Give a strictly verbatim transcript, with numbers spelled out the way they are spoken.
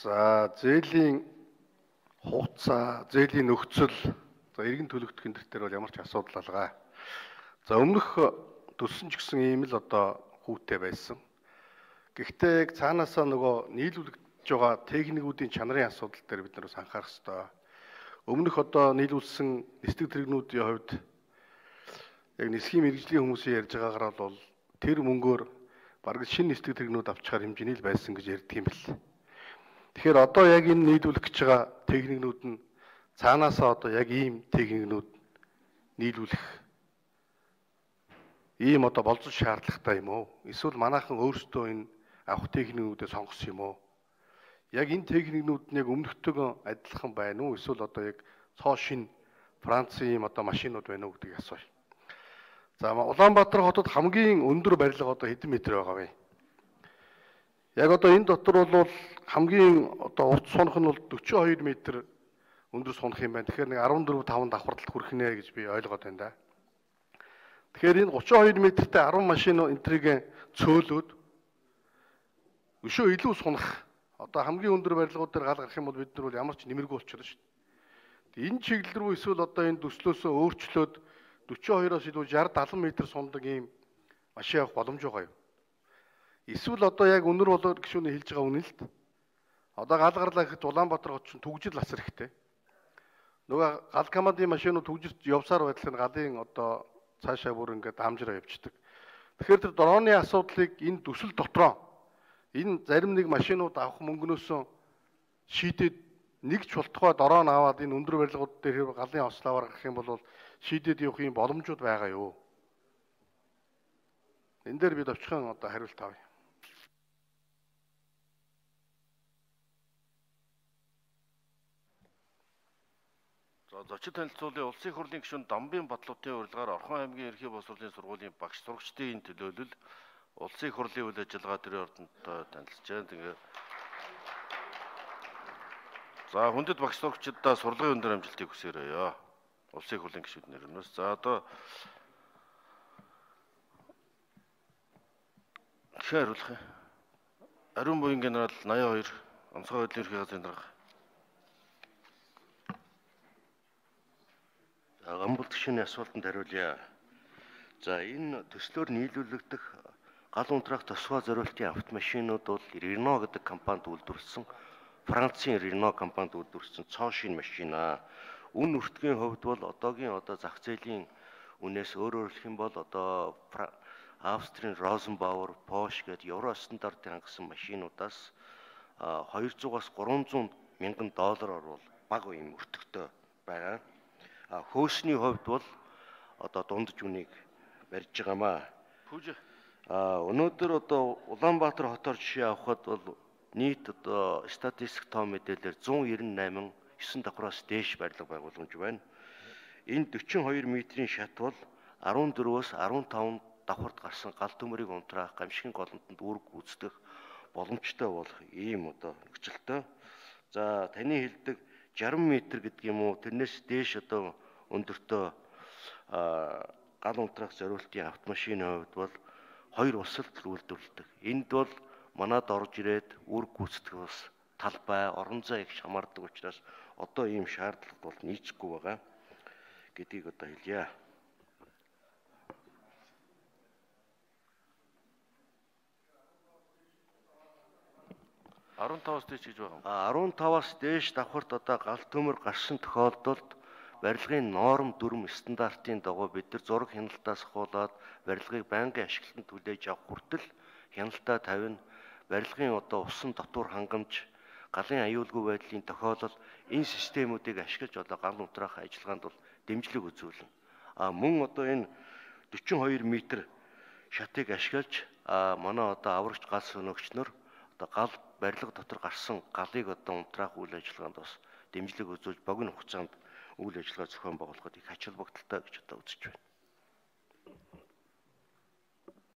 За зээлийн хугацаа, зээлийн нөхцөл, за иргэн төлөгдөх энэ төр бол ямар ч асуудал алгаа. За өмнөх төссөн ч гэсэн ийм л одоо хүүтэй байсан. Гэхдээ яг цаанаасаа нөгөө нийлүүлэгдэж байгаа техникүүдийн чанарын асуудал дээр бид нар бас анхаарах хэрэгтэй. Өмнөх одоо нийлүүлсэн нисдэг тэрэгнүүдийн хувьд яг нисхийн мэрэгжлийн хүмүүсийн ярьж байгаагаар бол тэр мөнгөөр бараг шинэ нисдэг тэрэгнүүд авчихаар хэмжээний л байсан гэж ярьдаг юм бэл. Тэгэхээр одоо яг энэ нийлүүлэх гэж байгаа техникнүүд нь цаанаасаа одоо яг ийм техникнүүд нийлүүлэх ийм одоо болцох шаардлагатай юм уу? Эсвэл манайхан өөрсдөө энэ авах техникнүүдээ сонгосон юм уу? Яг энэ техникнүүд нь яг өмнөхтэйгөө адилхан байна уу? Эсвэл одоо яг цоо шин Францын ийм одоо машинууд байна уу гэдгийг асууя. За Улаанбаатар хотод хамгийн өндөр барилга одоо хэдэн метр байгаа вэ? Яг одоо энэ дотор бол хамгийн одоо урт сунах нь бол дөрвөн хоёр метр өндөр сунах юм байна. Тэгэхээр нэг арван дөрвөн таван давхарлалт хүрэх нэ гэж би ойлгоод байна да. Тэгэхээр энэ гурван хоёр метртэй арван машин энтрийг цөөлөөд өшөө илүү сунах одоо хамгийн өндөр барилгууд дээр гал гарах юм бол бид нар бол ямар ч нэмэргүй болчихно шүү дээ. Энэ чиглэл рүү эсвэл одоо энэ төслөөсөө өөрчлөөд дөрвөн хоёроос илүү шард дадлан метр сундаг ийм машин авах боломж байгаа юу? Эсвэл одоо яг өнөр болоод гişүүний хэлж байгаа үнэн л т. Одоо гал гарлаа гэхэд Улаанбаатар хот чинь түгжил лас хэрэгтэй. Нөгөө гал командын машинууд түгжилт явсаар байдлаар галын одоо цаашаа бүр ингээд хамжраа явчихдаг. Тэгэхээр тэр дроны асуудлыг энэ төсөл дотроо энэ зарим нэг машинууд авах мөнгнөөсөө шийдээд нэг ч болтугай дрон аваад энэ өндөр барилгууд дээр галын ослоовар гарах юм бол шийдээд явах юм боломжууд байгаа юу? Энэ дээр бид очихын одоо хариулт авъя. Зочид танилцуулын улсын их хурлын гишүүн Дамбын Батлуутын урилгаар Орхон аймгийн ерхий боловсролын сургуулийн багш сурагчдын энэ төлөөлөл улсын их хурлын үйл ажиллагаа төрийн ордонтой танилцж байна. Тэгээ за хүндэт багш сурагчдаа сурлагын өндөр амжилтыг хүсээрэй. Улсын их хурлын гишүүд нэрнээс. За одоо ихэ хариулах юм. Ариун буян генерал наяа хоёр онцгой байдлын ерхий газрын дарга. Гамбал гишүүний асуултанд хариулъя. За энэ төслөөр нийлүүлэгдэх гал унтраах тосгой зориултын автомашинууд бол Renault гэдэг компанид үйлдвэрлэсэн Францын Renault компанид үйлдвэрлэсэн цоо шин машин аа. Үн өртгийн хувьд бол одоогийн одоо зах зээлийн үнээс өөрөөр хэлэх юм бол одоо Австрийн Rosenbauer, Porsche гэдэг евро стандартын хангасан машинуудаас двухсот-аас гурамзуун мянган доллараар бол бага юм өртөгтэй байгаа. Хөөсний хувьд бол одоо дундаж үнийг барьж байгаамаа. А өнөөдөр одоо Улаанбаатар хотоор жишээ авахад бол нийт одоо статистик тоо мэдээлэлээр зуун найман восемь есөн давхраас дээш барилга байгууламж байна. Энэ дөрвөн хоёр метрийн шат бол арван дөрвөөс арван таван давхарт гарсан гал төмөрийг унтраах гамшигын голомтонд үүрэг гүйцэтгэх боломжтой болох ийм одоо нөхцөлтэй. За таны хэлдэг шарм метр гэдэг юм уу тэрнээс дээш одоо өндөртөө гал унтраах зориултын автомашины хувьд бол хоёр усалт үйлдвэрлэдэг. Энд бол манад орж ирээд үүрэг гүйцэтгэх бас талбай, орон зай их хамаардаг учраас одоо ийм шаардлага бол нийцэхгүй байгаа гэдгийг одоо хэлье. арван таваас дээш гэж байгаа юм. арван таваас дээш давхарт одоо гал төмөр гарсан тохиолдолд барилгын норм дүрм стандартын дагуу бид нар зураг хяналтаас хуулаад барилгыг байнгын ашиглалтанд хүлээж авах хүртэл хяналтаа тавина. Барилгын одоо усан дотор хангамж, галын аюулгүй байдлын тохиолдол энэ системүүдийг ашиглаж одоо гал унтраах ажиллагаанд бол дэмжлэг үзүүлнэ. А мөн одоо энэ дөрвөн хоёр метр шатыг ашиглаж манай одоо аврагч гал сөнөгч нар одоо гал барилга дотор гарсан галыг одоо унтраах үйл ажиллагаанд бас дэмжлэг үзүүлж богино хугацаанд үйл ажиллагаа зохион байгуулахад их ач холбогдолтой гэж одоо үзэж байна.